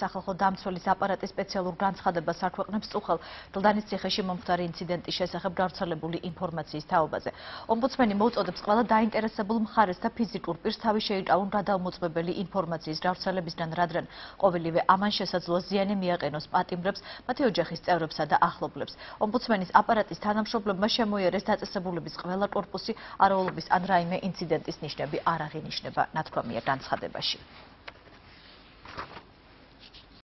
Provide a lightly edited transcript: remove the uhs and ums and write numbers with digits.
სახალხო დამცველის აპარატის სპეციალურ განცხადებას არქვეყნებს წუხელ დლდანის ციხეში მომხდარი ინციდენტის შესახებ გავრცელებული ინფორმაციის თაობაზე. ომბუდსმენი მოუწოდებს ყველა დაინტერესებულ მხარეს და ფიზიკურ პირს თავი შეიტანონ გადაუმოწმებელი ინფორმაციის გავრცელებისგან, რადგან ყოველივე ამან შესაძლოა ზიანი მიაყენოს პატიმრებს, მათი ოჯახის წევრებსა და ახლობლებს. ომბუდსმენის აპარატის თანამშრომლებმა შემოიარეს დაწესებულების ყველა კორპუსი, არაულობის ან რაიმე ინციდენტის ნიშნები არ აღინიშნება ნათქვამია განცხადებაში.